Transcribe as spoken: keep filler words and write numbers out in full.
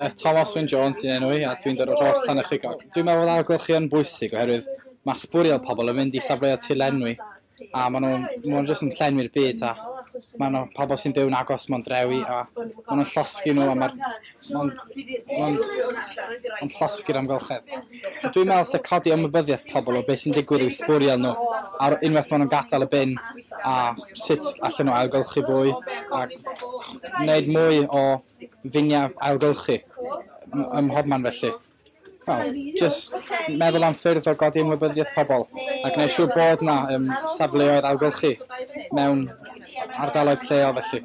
Thomas Wyn Jones sy'n enw i, a dwi'n dod o'r Rhos Llanachrigog. Dwi'n meddwl bod ailgylchu yn bwysig oherwydd mae sbwriel pobl yn mynd i safleoedd tirlenwi a maen nhw'n ma nhw jyst yn llenwi'r byd a maen nhw pobl sy'n byw'n agos mewn drewi a maen nhw'n llosgi nhw a mae'r ma'n ma'n ma'n llosgi'r amgylchedd. Dwi'n meddwl se codi ymwybyddiaeth pobl o beth sy'n digwydd i'w sbwriel nhw ar unwaith maen nhw'n gadael y bin a sut allan nhw ailgylchu fwy a gwneud mwy o finiau ailgylchu ym mhobman felly. Wel, jyst meddwl am ffyrdd o godi ymwybyddiaeth pobl a gwneud siŵr bod 'na um, safleoedd ailgylchu mewn ardaloedd lleol felly.